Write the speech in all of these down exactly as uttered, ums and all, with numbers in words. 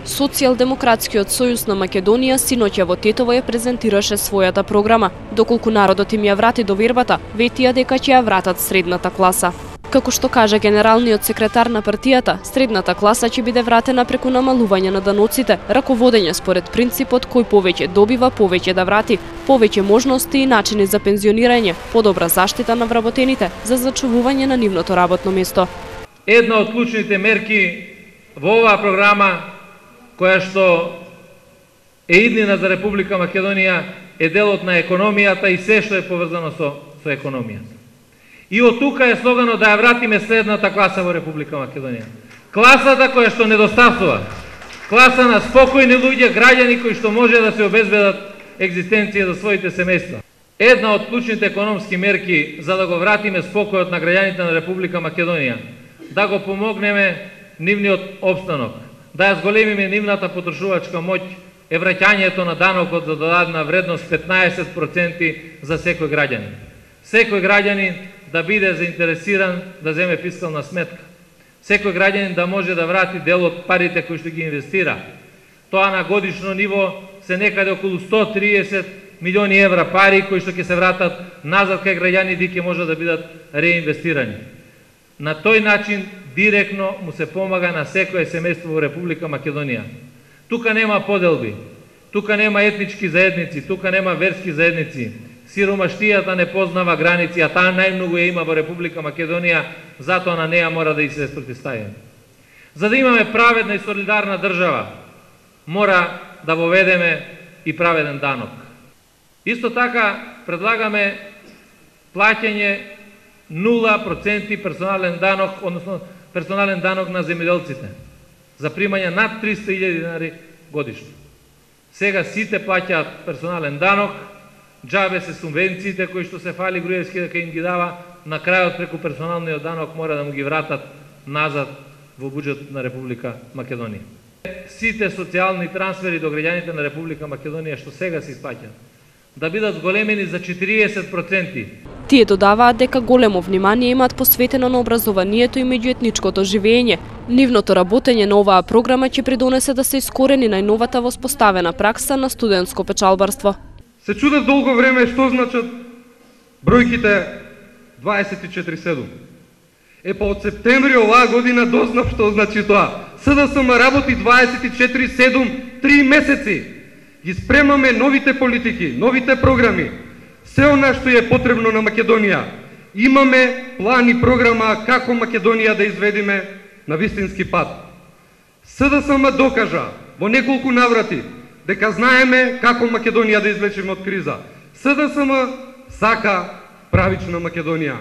Социјалдемократскиот сојуз на Македонија синоќа во Тетово ја презентираше својата програма. Доколку народот им ја врати довербата, ветија дека ќе ја вратат средната класа. Како што кажа генералниот секретар на партијата, средната класа ќе биде вратена преку намалување на даноците, раководење според принципот кој повеќе добива, повеќе да врати, повеќе можности и начини за пензионирање, подобра заштита на вработените за зачувување на нивното работно место. Една од клучните мерки во оваа програма, која што е иднина за Република Македонија, е делот на економијата и се што е поврзано со, со економијата. И од тука е слоганот да ја вратиме средната класа во Република Македонија. Класата која што недостасува. Класа на спокојни луѓе, граѓани кои што може да се обезбедат екзистенција за своите семејства. Една од клучните економски мерки за да го вратиме спокојот на граѓаните на Република Македонија, да го помогнеме нивниот обстанок, да ја зголемиме нивната потрошувачка моќ, е враќањето на данокот за додадена вредност петнаесет проценти за секој граѓанин. Секој граѓанин да биде заинтересиран да земе фискална сметка. Секој граѓанин да може да врати дел од парите кои што ги инвестира. Тоа на годишно ниво се некаде околу сто триесет милиони евра пари кои што ќе се вратат назад кај граѓаните и ќе може да бидат реинвестирани. На тој начин директно му се помага на секое семејство во Република Македонија. Тука нема поделби, тука нема етнички заедници, тука нема верски заедници. Сиромаштијата не познава граници, а таа најмногу ја има во Република Македонија, затоа на неа мора да и се спротивставиме. За да имаме праведна и солидарна држава, мора да воведеме и праведен данок. Исто така предлагаме плаќање нула проценти персонален данок, односно персонален данок на земјоделците, за примање над триста илјади динари годишно. Сега сите плаќаат персонален данок, џабе се субвенциите кои што се фали Груевски дека им ги дава, на крајот преку персоналниот данок мора да му ги вратат назад во буџетот на Република Македонија. Сите социјални трансфери до граѓаните на Република Македонија што сега се исплаќаат, да бидат зголемени за четириесет проценти. Тие додаваат дека големо внимание имаат посветено на образованието и меѓуетничкото живење. Нивното работење на оваа програма ќе придонесе да се искорени најновата воспоставена пракса на студентско печалбарство. Се чудев долго време што значат бројките дваесет и четири седум. Е па од септември оваа година дознав што значи тоа. СДСМ работи дваесет и четири седум три месеци. Ги спремаме новите политики, новите програми, се она што е потребно на Македонија. Имаме план и програма како Македонија да изведиме на вистински пат. СДСМ докажа во неколку наврати дека знаеме како Македонија да извлечеме од криза. СДСМ сака правична Македонија,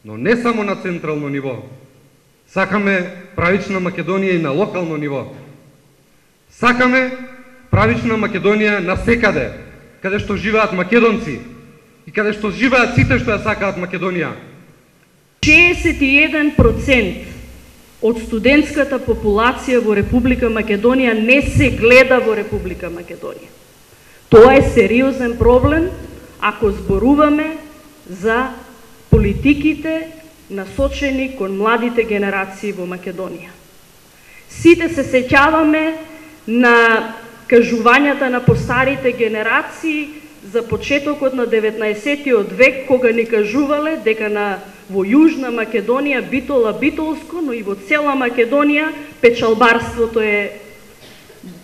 но не само на централно ниво. Сакаме правична Македонија и на локално ниво. Сакаме правична Македонија насекаде, каде што живеат македонци и каде што живеат сите што ја сакаат Македонија. шеесет и еден процент од студентската популација во Република Македонија не се гледа во Република Македонија. Тоа е сериозен проблем ако зборуваме за политиките насочени кон младите генерации во Македонија. Сите се сеќаваме на кажувањата на постарите генерации за почетокот на деветнаесеттиот век, кога ни кажувале дека на во Јужна Македонија битола битолско, но и во цела Македонија печалбарството е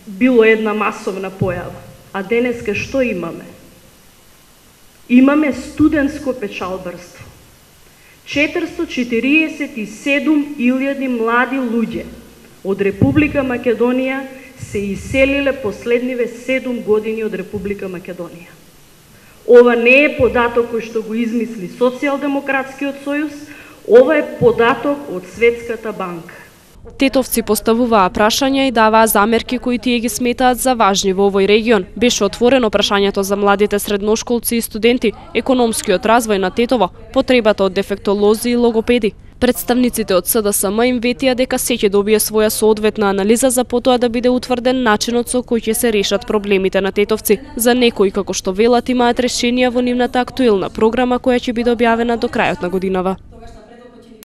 било една масовна појава. А денеска што имаме? Имаме студентско печалбарство. четиристо четириесет и седум илјади млади луѓе од Република Македонија се иселиле последниве седум години од Република Македонија. Ова не е податок кој што го измисли Социјалдемократскиот сојуз, ова е податок од Светската банка. Тетовци поставуваа прашања и даваа замерки кои тие ги сметаат за важни во овој регион. Беше отворено прашањето за младите средношколци и студенти, економскиот развој на Тетово, потребата од дефектолози и логопеди. Представниците од СДСМ им ветија дека се ќе добие своја соодветна анализа за потоа да биде утврден начинот со кој ќе се решат проблемите на тетовци. За некои, како што велат, имаат решенија во нивната актуелна програма која ќе биде објавена до крајот на годинава.